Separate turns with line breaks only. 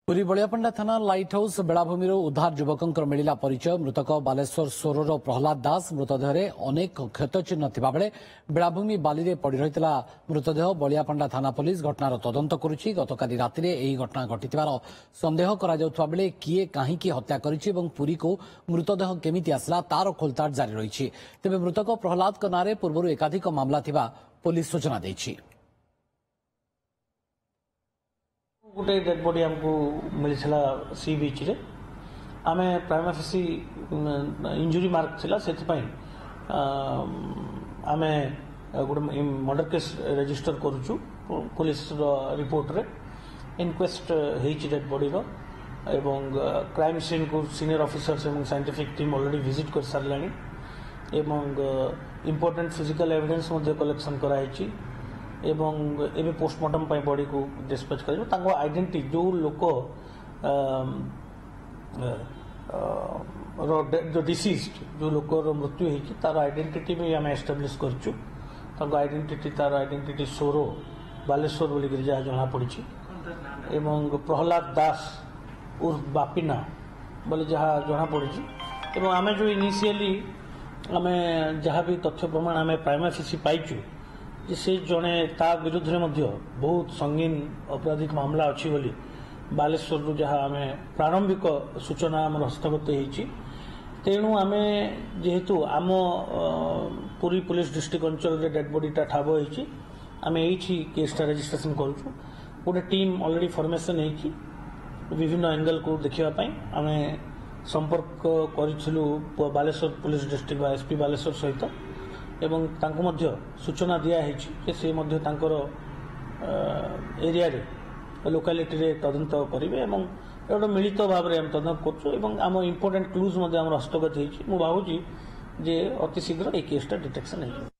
ପୁରୀ ବଳିଆପଣ୍ଡା ଥାନା light house ବେଳାଭୂମିରୁ ଉଦ୍ଧାର ଯୁବକଙ୍କର ମିଳିଲା ପରିଚୟ। ମୃତକ ବାଲେଶ୍ୱର ସୋରର ପ୍ରହ୍ଲାଦ ଦାସ। ମୃତଦେହରେ ଅନେକ କ୍ଷତଚିହ୍ନ ଥିବାବେଳେ ବେଳାଭୂମି ବାଲିରେ ପଡ଼ି ରହିଥିଲା ମୃତଦେହ। ବଳିଆପଣ୍ଡା ଥାନା ପୋଲିସ ଘଟଣାର ତଦନ୍ତ କରୁଛି। ଗତକାଲି ରାତିରେ ଏହି ଘଟଣା ଘଟିଥିବାର ସନ୍ଦେହ କରାଯାଉଥିବା ବେଳେ କିଏ କାହିଁକି ହତ୍ୟା କରିଛି ଏବଂ ପୁରୀକୁ ମୃତଦେହ କେମିତି ଆସିଲା ତାର ଖୋଳତାଡ଼ ଜାରି ରହିଛି। ତେବେ ମୃତକ ପ୍ରହ୍ଲାଦଙ୍କ ନାଁରେ ପୂର୍ବରୁ ଏକାଧିକ ମାମଲା ଥିବା ପୋଲିସ ସୂଚନା ଦେଇଛି।
ଗୋଟେ ଡେଡ୍ ବଡି ଆମକୁ ମିଳିଥିଲା ସି ବିଚ୍ରେ। ଆମେ ପ୍ରାଇମା ଫେସି ଇଞ୍ଜୁରି ମାର୍କ ଥିଲା, ସେଥିପାଇଁ ଆମେ ଗୋଟେ ମର୍ଡର କେସ୍ ରେଜିଷ୍ଟର କରୁଛୁ। ପୋଲିସର ରିପୋର୍ଟରେ ଇନକ୍ୱେଷ୍ଟ ହେଇଛି ଡେଡ୍ ବଡିର ଏବଂ କ୍ରାଇମ୍ ସିନ୍କୁ ସିନିୟର ଅଫିସର୍ସ ଏବଂ ସାଇଣ୍ଟିଫିକ୍ ଟିମ୍ ଅଲରେଡ଼ି ଭିଜିଟ୍ କରିସାରିଲାଣି ଏବଂ ଇମ୍ପୋର୍ଟାଣ୍ଟ ଫିଜିକାଲ ଏଭିଡେନ୍ସ ମଧ୍ୟ କଲେକ୍ସନ୍ କରାହେଇଛି ଏବଂ ଏବେ ପୋଷ୍ଟମର୍ଟମ ପାଇଁ ବଡିକୁ ଡିସ୍ପାଚ୍ କରାଯିବ। ତାଙ୍କ ଆଇଡେଣ୍ଟିଟି, ଯେଉଁ ଲୋକ ର ଯେଉଁ ଡିସିଜ୍ଡ, ଯେଉଁ ଲୋକର ମୃତ୍ୟୁ ହେଇଛି, ତାର ଆଇଡେଣ୍ଟିଟି ବି ଆମେ ଏଷ୍ଟାବ୍ଲିଶ କରିଛୁ। ତାଙ୍କ ଆଇଡେଣ୍ଟିଟି, ତାର ଆଇଡେଣ୍ଟିଟି ସୋରୋ ବାଲେଶ୍ୱର ବୋଲିକରି ଯାହା ଜଣାପଡ଼ିଛି ଏବଂ ପ୍ରହ୍ଲାଦ ଦାସ ଉର୍ଫ ବାପିନା ବୋଲି ଯାହା ଜଣାପଡ଼ିଛି। ଏବଂ ଆମେ ଯେଉଁ ଇନିସିଆଲି ଆମେ ଯାହା ବି ତଥ୍ୟ ପ୍ରମାଣ ଆମେ ପ୍ରାଇମା ଫେସି ପାଇଛୁ ଯେ ସେ ଜଣେ, ତା ବିରୁଦ୍ଧରେ ମଧ୍ୟ ବହୁତ ସଙ୍ଗୀନ ଅପରାଧିକ ମାମଲା ଅଛି ବୋଲି ବାଲେଶ୍ୱରରୁ ଯାହା ଆମେ ପ୍ରାରମ୍ଭିକ ସୂଚନା ଆମର ହସ୍ତଗତ ହେଇଛି। ତେଣୁ ଆମେ ଯେହେତୁ ଆମ ପୁରୀ ପୋଲିସ ଡିଷ୍ଟ୍ରିକ୍ଟ ଅଞ୍ଚଳରେ ଡେଡ୍ ବଡିଟା ଠାବ ହେଇଛି, ଆମେ ଏଇଠି କେସ୍ଟା ରେଜିଷ୍ଟ୍ରେସନ କରୁଛୁ। ଗୋଟେ ଟିମ୍ ଅଲରେଡ଼ି ଫର୍ମେସନ୍ ହେଇକି ବିଭିନ୍ନ ଆଙ୍ଗେଲକୁ ଦେଖିବା ପାଇଁ ଆମେ ସମ୍ପର୍କ କରିଥିଲୁ ବାଲେଶ୍ୱର ପୋଲିସ ଡିଷ୍ଟ୍ରିକ୍ଟ ବା ଏସ୍ପି ବାଲେଶ୍ୱର ସହିତ ଏବଂ ତାଙ୍କୁ ମଧ୍ୟ ସୂଚନା ଦିଆହେଇଛି ଯେ ସେ ମଧ୍ୟ ତାଙ୍କର ଏରିଆରେ, ଲୋକାଲିଟିରେ ତଦନ୍ତ କରିବେ ଏବଂ ଗୋଟେ ମିଳିତ ଭାବରେ ଆମେ ତଦନ୍ତ କରୁଛୁ ଏବଂ ଆମ ଇମ୍ପୋର୍ଟାଣ୍ଟ କ୍ଲୁଜ୍ ମଧ୍ୟ ଆମର ହସ୍ତଗତ ହେଇଛି। ମୁଁ ଭାବୁଛି ଯେ ଅତି ଶୀଘ୍ର ଏଇ କେସ୍ଟା ଡିଟେକ୍ସନ୍ ହେଇଯିବ।